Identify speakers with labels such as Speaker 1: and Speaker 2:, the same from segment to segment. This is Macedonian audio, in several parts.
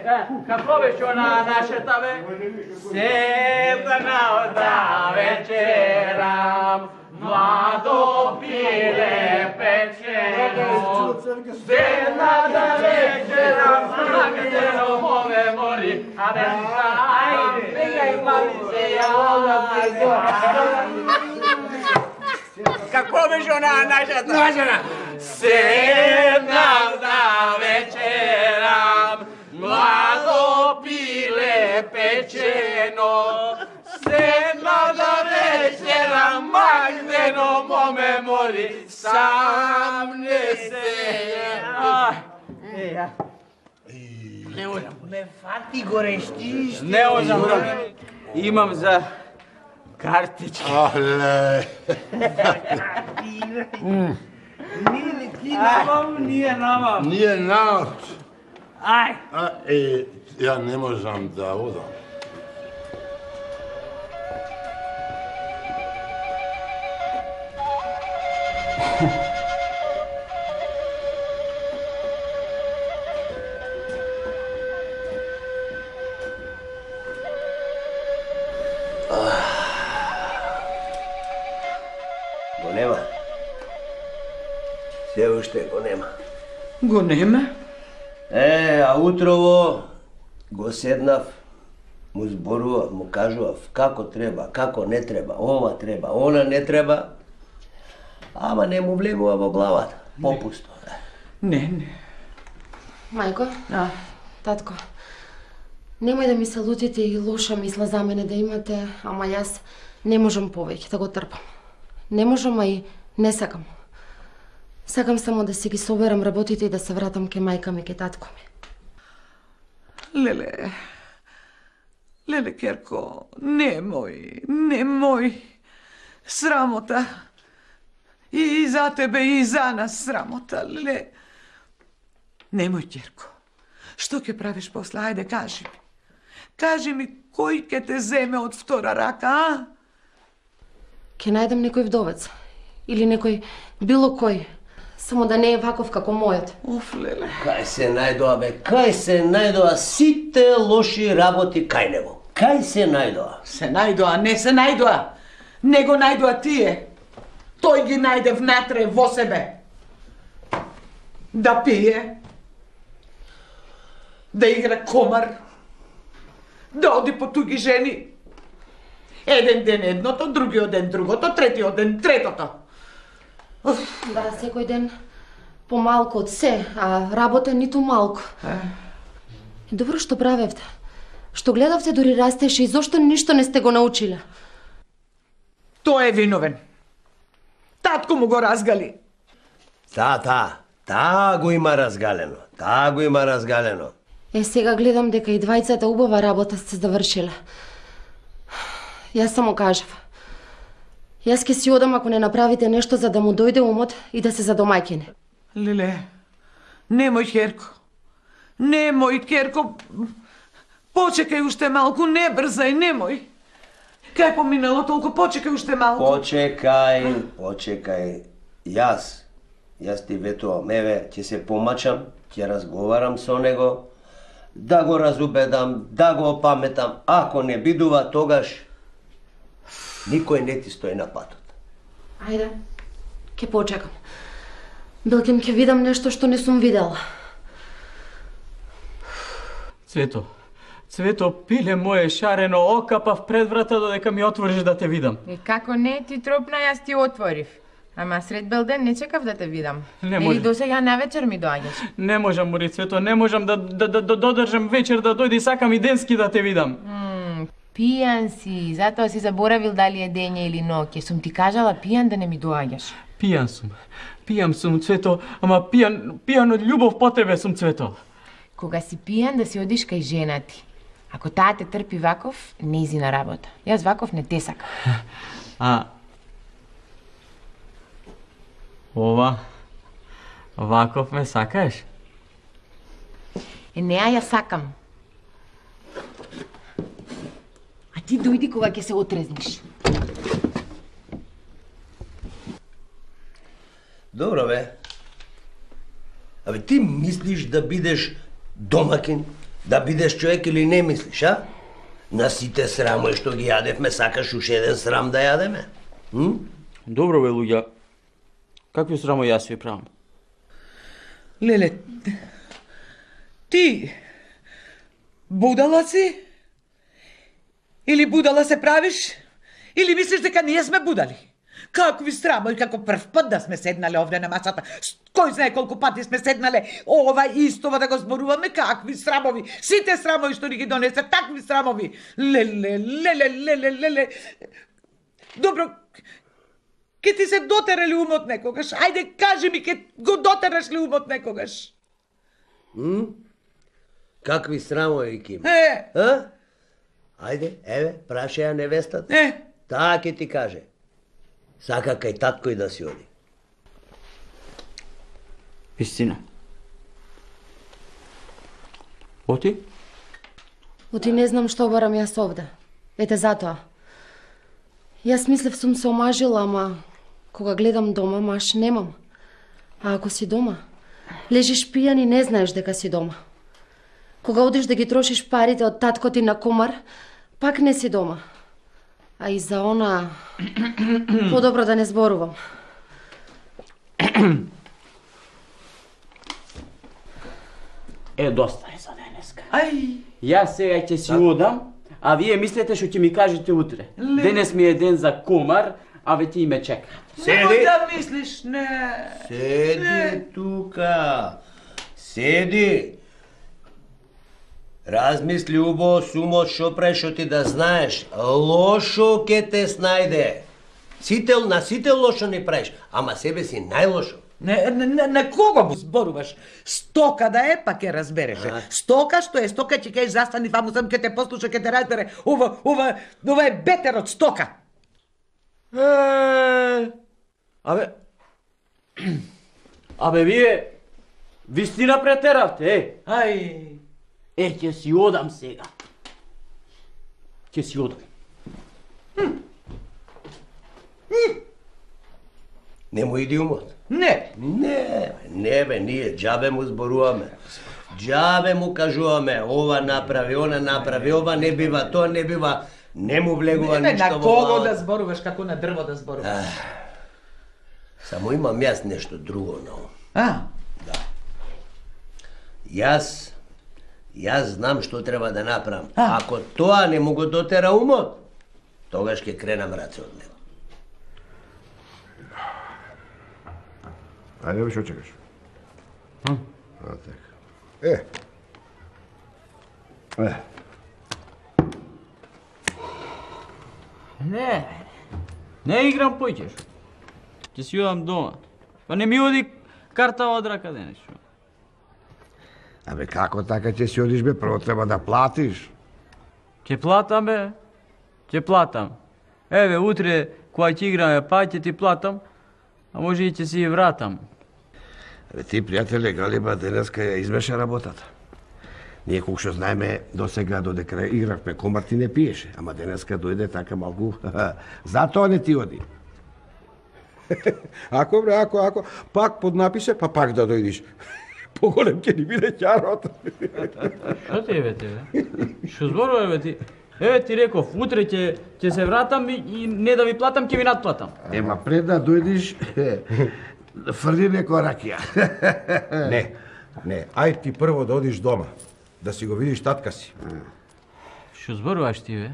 Speaker 1: Како беше она нашата бе? Седна да вечерам, младо пиле печено. Седна да вечерам, магдено мове моли. Абе, ајде, бегај малице, Како беше она нашата? Седнам да вечерам, младо пиле печено. Седнам да вечерам, магдено моме моли, сам не се. Не можам.
Speaker 2: Ме фати горещиш.
Speaker 1: Не можам. Имам за картички.
Speaker 3: Але.
Speaker 2: Ти намам, ние намам.
Speaker 3: Ние намам.
Speaker 2: Ај.
Speaker 3: Ја не можам да одам.
Speaker 4: Го нема. Се уште го нема.
Speaker 2: Го нема?
Speaker 4: А утрово го седнав, му зборував, му кажував како треба, како не треба, ова треба, она не треба, ама не му влегува во главата, попусто.
Speaker 2: Не.
Speaker 5: Мајко, татко, немој да ми се лутите и лоша мисла за мене да имате, ама јас не можам повеќе да го трпам. Не можам, а и не сакам. Сакам само да си ги соберам работите и да се вратам ке мајка ми, ке татко ми.
Speaker 2: Леле, Керко, немој. Срамота. И за тебе, и за нас срамота, леле. Немој, Керко. Што ќе правиш после? Ајде, кажи ми. Кажи ми, кој ќе те земе од втора рака, а?
Speaker 5: Ке најдам некој вдовец. Или некој, било кој. Само да не е ваков како мојот.
Speaker 2: Оф, леле.
Speaker 4: Кај се најдоа, бе, кај се најдоа сите лоши работи кај него. Кај се најдоа?
Speaker 2: Се најдоа, не се најдоа. Не го најдоа тие. Тој ги најде внатре во себе. Да пие. Да игра комар. Да оди по туги жени. Еден ден едното, другиот ден другото, третиот ден третото.
Speaker 5: Да, секој ден помалку од се, а работа ниту малку. Добро што правевте. Што гледавте дури растеше и зошто ништо не сте го научиле?
Speaker 2: Тој е виновен. Татко му го разгали.
Speaker 4: Таа го има разгалено.
Speaker 5: Сега гледам дека и двајцата убава работа сте завршиле. Јас само кажав. Јас ке си одам ако не направите нешто за да му дојде умот и да се задомајкине.
Speaker 2: Леле, немој, Керко. Почекај уште малку, не брзај, немој. Кај поминало толку, почекај уште малку.
Speaker 4: Почекај. Јас ти ветувам, ќе се помачам, ќе разговарам со него, да го разубедам, да го опаметам. Ако не бидува, тогаш никој не ти стои на патот.
Speaker 5: Ајде, ке почекам. Билким ке видам нешто што не сум видела.
Speaker 1: Цвето, пиле моje шарено, окапав пред врата додека ми отвориш да те видам.
Speaker 6: И како не ти тропна, јас ти отворив. Ама сред белден не чекав да те видам.
Speaker 1: Не може.
Speaker 6: Или досега на вечер ми доаѓаш.
Speaker 1: Не можам, Мори, Цвето, не можам да додржам вечер да дојде и сакам и денски да те видам.
Speaker 6: Пијан си, затоа си заборавил дали е дење или ноќе. Сум ти кажала пијан да не ми доаѓаш.
Speaker 1: Пијан сум, Цвето, ама пијан од љубов по тебе сум, Цвето.
Speaker 6: Кога си пијан да си одиш кај жена ти. Ако таа те трпи ваков, нејзина работа. Јас ваков не те сакам.
Speaker 1: Ова, ваков ме сакаш?
Speaker 6: Неа ја сакам. А ти дојди кога ќе се отрезниш.
Speaker 4: Добро, бе. Абе, ти мислиш да бидеш домакин Да бидеш човек или не мислиш, а? На сите срамои што ги јадевме, сакаш уште еден срам да јадеме?
Speaker 1: Добро бе, луѓа. Какви срамо јас ви правам?
Speaker 2: Леле, ти будала си? Или будала се правиш? Или мислиш дека ние сме будали? Какви срамои, како прв пат да сме седнале овде на масата. Кој знае колку пати сме седнале ова истова да го зборуваме, какви срамови. Сите срамови што ни ги донесе, такви срамови. Леле. Добро, ке ти се дотера ли умот некогаш? Ајде, кажи ми, ке го дотераш ли умот некогаш?
Speaker 4: Какви срамови ки има?
Speaker 2: А?
Speaker 4: Ајде, еве, праша ја невестата. Таа ќе ти каже. Сака кај татко и да си оди.
Speaker 1: Истина. Оти?
Speaker 5: Оти не знам што барам јас овде. Ете затоа. Јас мислев сум се омажила, ама кога гледам дома, маш немам. А ако си дома, лежиш пијан и не знаеш дека си дома. Кога одиш да ги трошиш парите од татко ти на комар, пак не си дома. А и за она подобро да не зборувам.
Speaker 1: Доста е за денеска.
Speaker 2: Ај,
Speaker 1: Јас сега ќе си одам, а вие мислите што ќе ми кажете утре. Денес ми е ден за комар, а ве ти ме чека.
Speaker 2: немој да мислиш, не.
Speaker 4: Седи тука. Седи. Размисли убаво сумот што прешо ти да знаеш. Лошо ке те снајде. На сите лошо не правиш, ама себе си најлошо.
Speaker 2: На кого му зборуваш? Стока да е, па ќе разбереше. Стока што е стока, ќе кажеш застани ваму сам, ќе те послуша, ќе те разбере. Ова е бетер од стока.
Speaker 1: Абе вие вистина претеравте,
Speaker 2: Ај.
Speaker 1: ќе си одам сега. Ќе си одам.
Speaker 4: Нема иди умот.
Speaker 2: Не.
Speaker 4: Не бе, ние џабе му зборуваме. Џабе му кажуваме, ова направи, она направи, ова не бива, тоа не бива. Не му влегува
Speaker 2: Не,
Speaker 4: ништо
Speaker 2: на
Speaker 4: во
Speaker 2: кого
Speaker 4: главата.
Speaker 2: да зборуваш, како на дрво да зборуваш?
Speaker 4: Само имам јас нешто друго на ум.
Speaker 2: Да.
Speaker 4: Јас знам што треба да направам. Ако тоа не му го дотера умот, тогаш ќе кренам раце од него.
Speaker 3: Ајде, бе, што чекаш?
Speaker 1: Не играм појќеш. Ќе си одам дома. Па не ми оди карта од рака денес.
Speaker 3: Абе, како така ќе си одиш, бе? Прво треба да платиш.
Speaker 1: Ќе платам, бе. Ќе платам. Еве, утре, кога ќе играме, па ќе ти платам, а може и ќе си ја вратам.
Speaker 3: Абе, ти, пријателе, Галиба денеска ја избеше работата. Ние колку што знаеме, досега додека игравме комар ти не пиеше, ама денеска дојде така малку. Затоа не ти оди. Ако, бре, ако, пак поднапише, па пак да дојдиш. Поголем ќе ни биде ќарот.
Speaker 1: Што ти е, бе? Што зборува, бе, ти? Еве ти реков, утре ќе се вратам и не да ви платам, ќе ви надплатам.
Speaker 3: Ема пред да дојдиш, фрли некоја ракија.
Speaker 7: Не, ај ти прво да одиш дома, да си го видиш татка си.
Speaker 1: Што зборуваш ти, бе?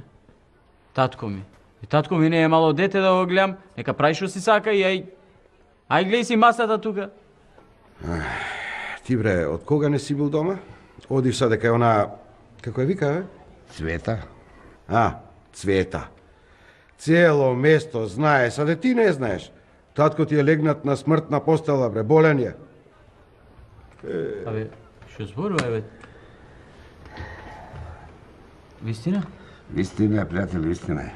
Speaker 1: Татко ми. И татко ми не е мало дете да го гледам, нека прави што си сака и ај гледај си масата тука.
Speaker 7: Ти, бре, од кога не си бил дома? Одиш са дека е она, како ја вика, бе?
Speaker 3: Цвета.
Speaker 7: Цвета. Цело место знае, саде ти не знаеш. Татко ти е легнат на смртна постела, бре, болен е.
Speaker 1: Абе, што зборува, бе? Вистина?
Speaker 3: Вистина е, пријател, вистина е.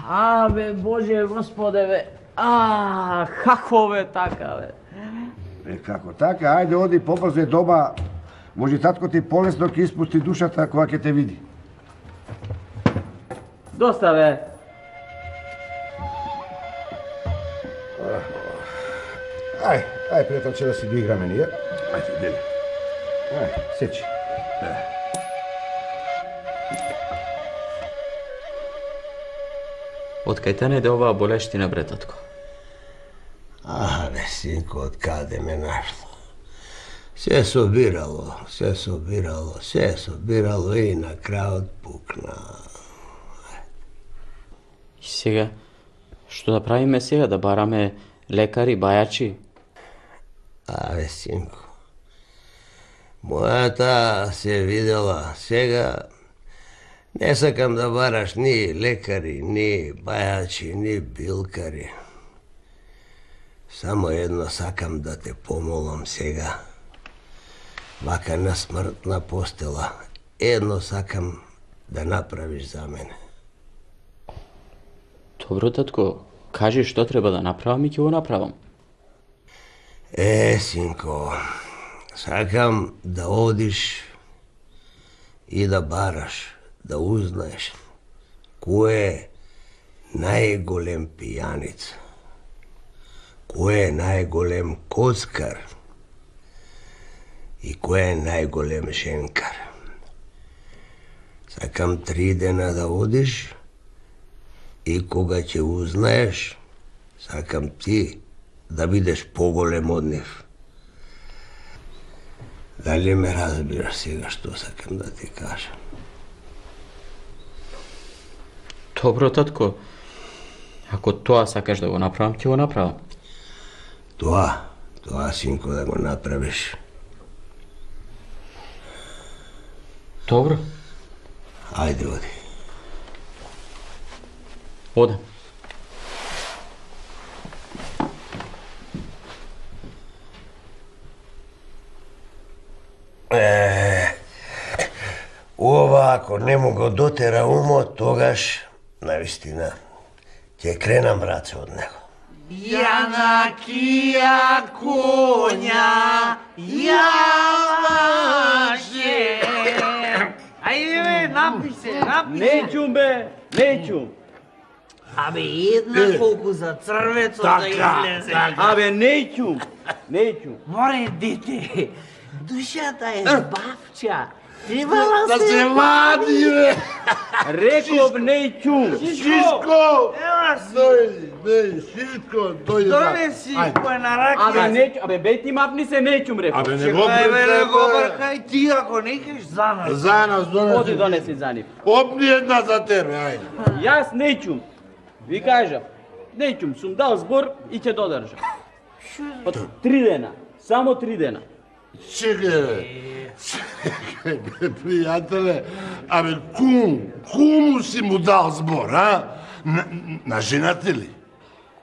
Speaker 1: Абе, Боже, Господе, бе. Како бе така, бе?
Speaker 3: Како така, ајде оди побрзо дома. Може татко ти полесно ќе испусти душата кога ќе те види.
Speaker 1: Доста, бе.
Speaker 7: Ај, пријателче, да си доиграме ние.
Speaker 3: Ајде, дели. Сечи.
Speaker 1: Од кај те најде оваа болештина, бре, татко?
Speaker 4: Бе, синко, од каде ме нашло? Се собирало и на крајот пукна.
Speaker 1: И сега, што да правиме сега? Да бараме лекари, бајачи?
Speaker 4: Бе, синко, мојата се видела, сега не сакам да бараш ни лекари, ни бајачи, ни билкари. Само едно сакам да те помолам сега. Вака на смртна постела, едно сакам да направиш за мене.
Speaker 1: Добро, татко, кажи што треба да направам и ќе го направам.
Speaker 4: Синко, сакам да одиш и да бараш, да узнаеш кој е најголем пијаница, кој е најголем коцкар и кој е најголем женкар. Сакам 3 дена да одиш и кога ќе узнаеш, сакам ти да бидеш поголем од нив. Дали ме разбираш сега што сакам да ти кажам?
Speaker 1: Добро, татко. Ако тоа сакаш да го направам, ќе го направам.
Speaker 4: Тоа, синко, да го направиш.
Speaker 1: Добро.
Speaker 4: Ајде, оди.
Speaker 1: Одам.
Speaker 4: Ова, ако не му го дотера умот, тогаш, навистина, ќе кренам раце од него.
Speaker 2: Јана кија коња, јаваше. Ајде бе, напи се.
Speaker 1: Неќум бе, неќум.
Speaker 8: Абе, една колку за црвецот да излезе.
Speaker 1: Абе, неќум.
Speaker 8: Море, дете, душата е бавча. Требала
Speaker 7: Да се вади, бе!
Speaker 1: Реков неќум.
Speaker 7: Шишко! Шишко, дојде.
Speaker 8: Донеси кој на рака.
Speaker 1: Абе, неќум. Абе, бе ти мапни се неќум, реков.
Speaker 7: Абе, не го
Speaker 8: Бе, не го
Speaker 7: пред...
Speaker 8: бркај ти, ако не кеш за нас.
Speaker 7: За нас
Speaker 1: Оди
Speaker 7: донеси.
Speaker 1: донеси за нив.
Speaker 7: Опни една за тебе, ајде.
Speaker 1: Јас неќум. Ви кажав, неќум, сум дал збор и ќе додржам. Од 3 дена, само 3 дена.
Speaker 7: Чекај, бе. Пријателе, абе, куму си му дал збор, а? На жената ли?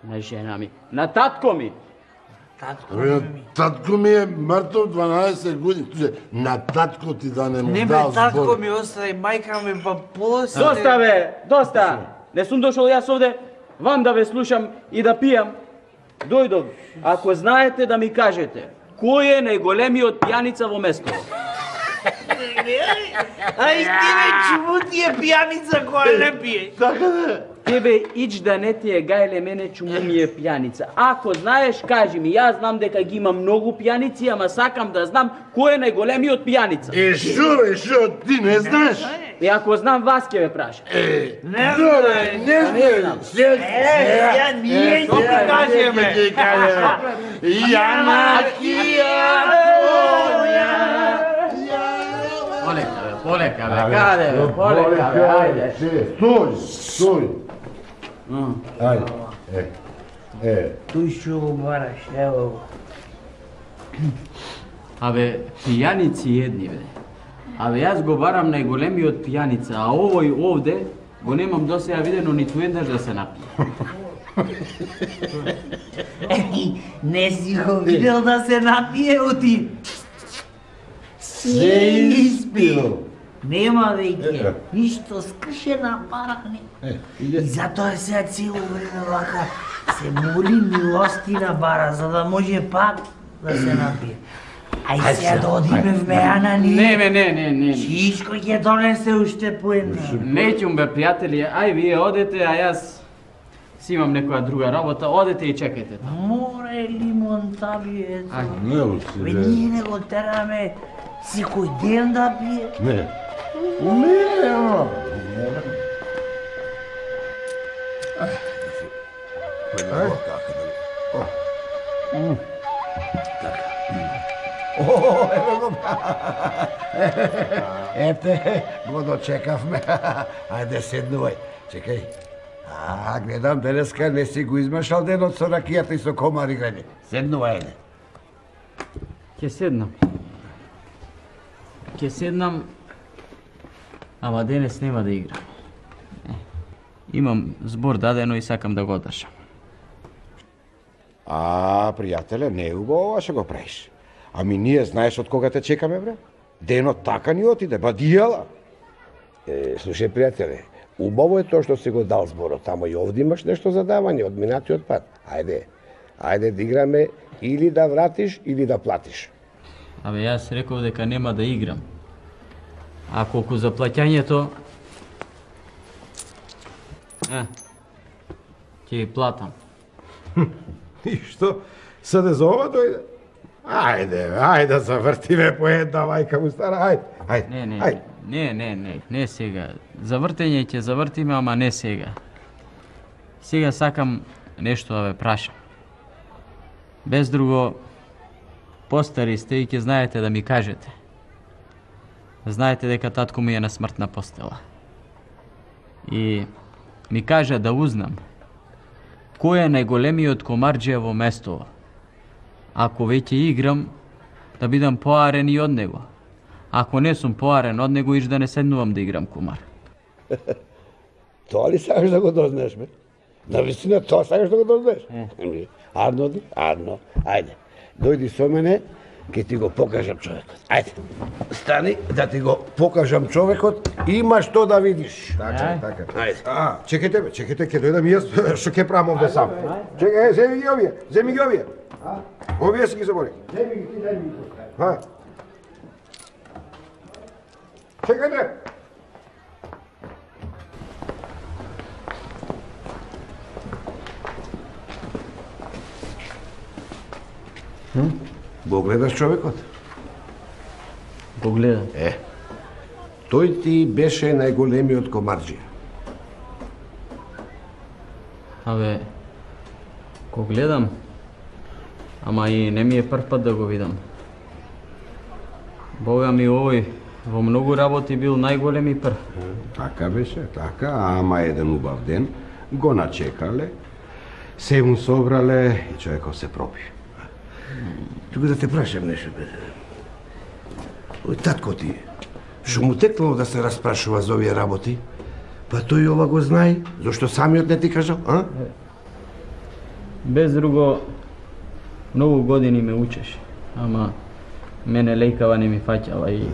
Speaker 1: На жена ми, на татко ми.
Speaker 7: Абе, татко ми е мртов 12 години. На татко ти да не му
Speaker 8: Не бе,
Speaker 7: дал
Speaker 8: татко
Speaker 7: збор.
Speaker 8: ми остави, мајка ми па после.
Speaker 1: Доста бе, доста. Не сум дошол јас овде вам да ве слушам и да пијам. Дојдов, ако знаете да ми кажете, кој е најголемиот пијаница во местото?
Speaker 8: Ај ти бе, чему ти е пијаница која не пие?
Speaker 7: Така да.
Speaker 1: Тебе ич да не ти е гајле мене чему ми е пијаница. Ако знаеш, кажи ми, јас знам дека ги има многу пијаници, ама сакам да знам кој е најголемиот пијаница.
Speaker 7: Шо, ти не знаеш?
Speaker 1: И ако знам, вас ќе ве прашам.
Speaker 8: Не
Speaker 7: Добре, не знаеш.
Speaker 8: ја ние ќе ти кажеме.
Speaker 7: Јана кија коња.
Speaker 1: Полека бе, каде бе, полека бе, ајде.
Speaker 7: Стој. Ајде.
Speaker 8: Тој што го бараш, ево го.
Speaker 1: Абе, пијаници едни бе. Абе, јас го барам најголемиот пијаница, а овој овде го немам досеја видено ниту еднаш да се напие.
Speaker 8: Не си го видел да се напие, оти.
Speaker 7: Се испил.
Speaker 8: Нема веќе, ништо скршена парахне. И затоа сега цело време вака се моли милостина бара, за да може пак да се напие. Ај сега да одиме в Мејана ние.
Speaker 1: Не.
Speaker 8: Чичко ќе донесе уште по една.
Speaker 1: Неќум бе, пријатели, ај вие одете, а јас си имам некоја друга работа, одете и чекајте таму.
Speaker 8: Море, Аре, лимон, таби, ето.
Speaker 7: Не, оси,
Speaker 8: Бе, ние не го тераме секој ден да пие.
Speaker 7: Не. Не,
Speaker 3: Ете, го дочекавме. Ајде, седнувај. Чекај. Гледам, денеска не си го измешал денот со ракијата и со комари грене. Седнувај, ајде.
Speaker 1: Ќе седнам, ама денес нема да играм. Имам збор дадено и сакам да го одржам.
Speaker 7: Пријателе, не е убаво ова што го правиш. Ами ние знаеш од кога те чекаме, бре? Денот така ни отиде, ба дијала.
Speaker 3: Слушај, пријателе, убаво е тоа што си го дал зборот, ама и овде имаш нешто за давање од минатиот пат. Ајде да играме или да вратиш, или да платиш.
Speaker 1: Абе, јас реков дека нема да играм. А колку за плаќањето... ќе ги платам.
Speaker 7: И што? Саде за ова дојде? Ајде, завртиме по една, мајка му стара, ајде.
Speaker 1: Не сега. Завртење ќе завртиме, ама не сега. Сега сакам нешто да ве прашам. Без друго, постари сте и ќе знаете да ми кажете. Знаете дека татко ми е на смртна постела. И ми кажа да узнам кој е најголемиот комарџија во местово. Ако веќе играм, да бидам поарен и од него. Ако не сум поарен од него, иш да не седнувам да играм комар.
Speaker 3: Тоа ли сакаш да го дознаеш, бе? Навистина, тоа сакаш да го дознаеш? Арно, ајде. Дојди со мене, ќе ти го покажам човекот. Ајде, стани да ти го покажам човекот, има што да видиш.
Speaker 7: Така.
Speaker 3: Ајде.
Speaker 7: Чекайте, ќе дојдам и јас, што ќе правам овде сам. Чекај, земи ги овие. Овие си ги забори.
Speaker 3: Земи ги, ти дај ми го.
Speaker 7: Чекајте.
Speaker 3: Го гледаш човекот?
Speaker 1: Го гледам.
Speaker 3: Тој ти беше најголемиот комарџија.
Speaker 1: Абе, го гледам, ама и не ми е прв пат да го видам. Бога ми, овој во многу работи бил најголем и прв.
Speaker 7: Така беше, така, ама еден убав ден го начекале, се му собрале и човеков се пропи.
Speaker 3: Тука да те прашам нешто, бе. Ој татко ти, што му текнало да се распрашува за овие работи? Па тој ова го знае, зашто самиот не ти кажал, а?
Speaker 1: Без друго, многу години ме учеше, ама мене лејкава не ми фаќала и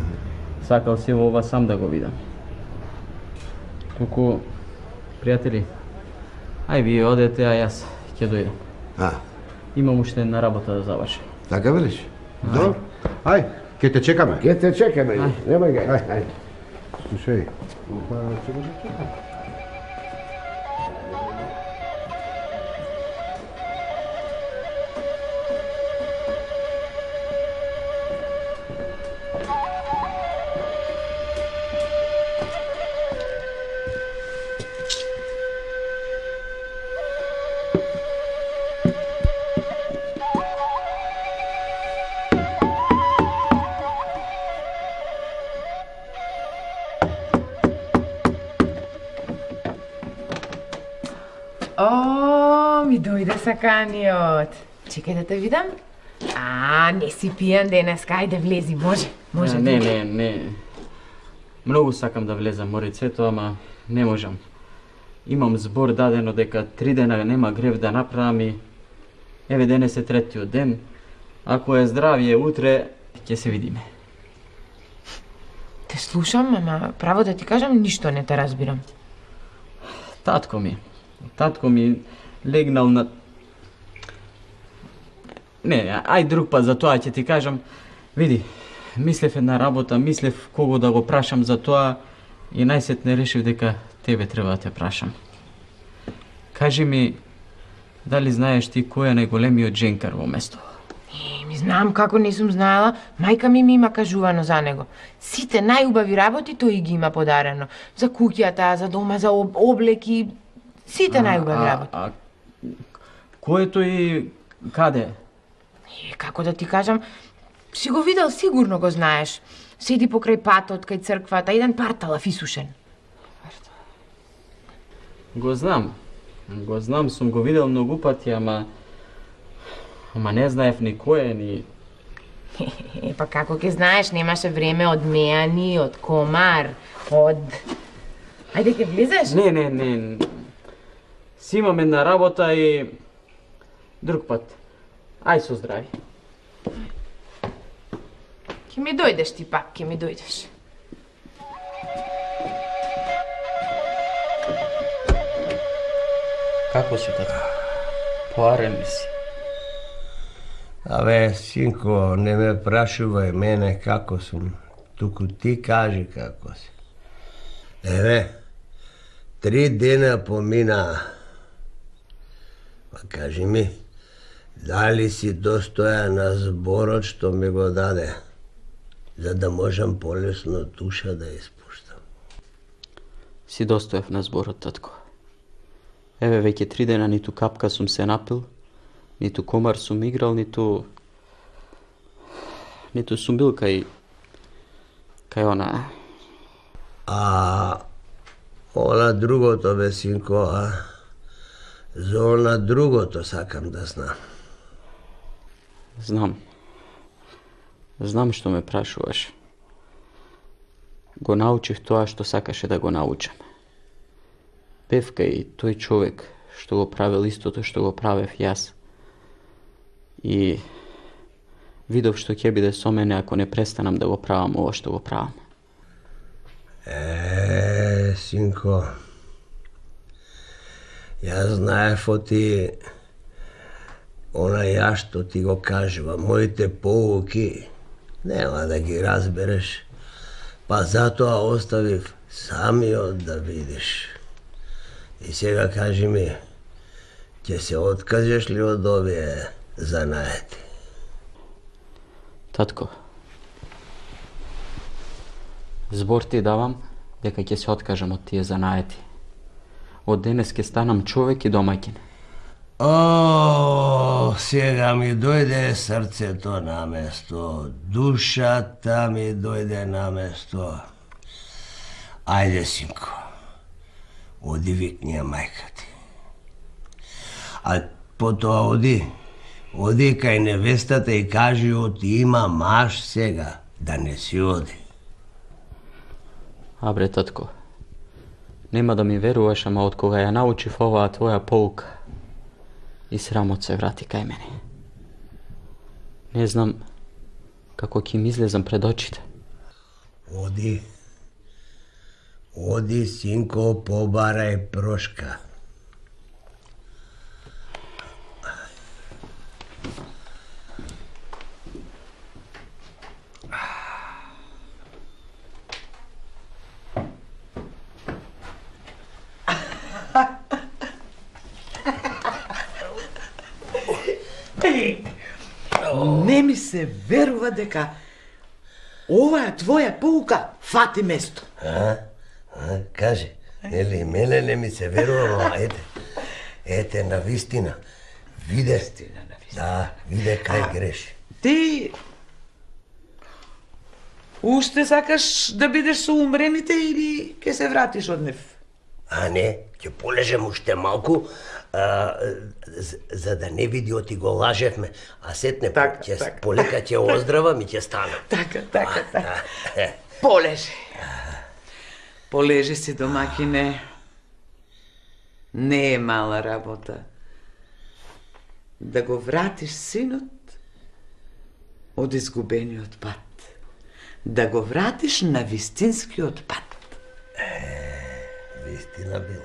Speaker 1: сакал се во ова сам да го видам. Туку, пријатели, ај вие одете, а јас ќе дојдам. Имам уште една работа да завршам.
Speaker 3: Така велиш?
Speaker 7: Добро. Ај, ќе те чекаме.
Speaker 3: Ќе те чекаме, немај га. Ај.
Speaker 7: Слушај,
Speaker 6: Ми дојде саканиот. Чекај да те видам. Не си пијан денеска, ајде влези, може.
Speaker 1: Не. Многу сакам да влезам во рецето, ама не можам. Имам збор дадено дека 3 дена нема грев да направам и еве денес е третиот ден. Ако е здравие утре, ќе се видиме.
Speaker 6: Те слушам, ама право да ти кажам, ништо не те разбирам.
Speaker 1: Татко ми легнал на... Не, ај друг пат за тоа ќе ти кажам. Види, мислев една работа, мислев кого да го прашам за тоа и најсетне решив дека тебе треба да те прашам. Кажи ми, Дали знаеш ти кој е најголемиот дженкар во место?
Speaker 6: Ми знам како не сум знаела, мајка ми има кажувано за него. Сите најубави работи тој ги има подарено. За куќата, за дома, за облеки, сите најубави работи.
Speaker 1: Кој е тој каде?
Speaker 6: Како да ти кажам, си го видел, сигурно го знаеш. Седи покрај патот, кај црквата, еден парталав исушен.
Speaker 1: Го знам, сум го видел многу пати, ама не знаев ни кој е, ни...
Speaker 6: Па како ќе знаеш, немаше време од меани, од комар, од... Ајде ќе влизеш?
Speaker 1: Не. Си имам една работа и... друг пат. Ај со здрави.
Speaker 6: Ќе ми дојдеш ти пак, ќе ми дојдеш.
Speaker 1: Како си, тато? Поарен ли си?
Speaker 4: Абе, синко, не ме прашувај мене како сум. Туку ти кажи како си. Еве, 3 дена помина. Па кажи ми, дали си достојан на зборот што ми го даде, за да можам полесно душа да испуштам?
Speaker 1: Си достоев на зборот, татко. Еве, веќе 3 дена ниту капка сум се напил, ниту комар сум играл, ниту сум бил кај она.
Speaker 4: А она другото, бе, синко, за она другото сакам да знам.
Speaker 1: Знам што ме прашуваш. Го научив тоа што сакаше да го научам. Бев кај тој човек што го правил истото што го правев јас. И видов што ќе биде со мене ако не престанам да го правам ова што го правам.
Speaker 4: Синко, јас знаев оти она ја што ти го кажува, моите поуки, нема да ги разбереш, па затоа оставив самиот да видиш. И сега кажи ми, ќе се откажеш ли од овие занаети?
Speaker 1: Татко, збор ти давам дека ќе се откажам од тие занаети. Од денес ќе станам човек и домаќин.
Speaker 4: О, сега ми дојде срцето на место, душата ми дојде на место. Ајде, синко, оди викни ја мајка ти. А потоа оди кај невестата и кажи оти има маж сега, да не си оди.
Speaker 1: Абре, татко, нема да ми веруваш, ама од кога ја научив оваа твоја поука, и срамот се врати кај мене. Не знам како ќе ми излезам пред очите.
Speaker 4: Оди, синко, побарај прошка.
Speaker 2: Не ми се верува дека оваа твоја поука фати место.
Speaker 4: Кажи, нели мене не ми се верува, ете, навистина. Виде, да, виде кај греши.
Speaker 2: Ти уште сакаш да бидеш со умрените или ќе се вратиш од нив?
Speaker 4: А не, ќе полежем уште малку, за да не види оти го лажевме, а сетне полека ќе оздравам и ќе станам.
Speaker 2: Така. Полежи си, домакине. Не е мала работа да го вратиш синот од изгубениот пат. Да го вратиш на вистинскиот пат.
Speaker 4: Вистина бил.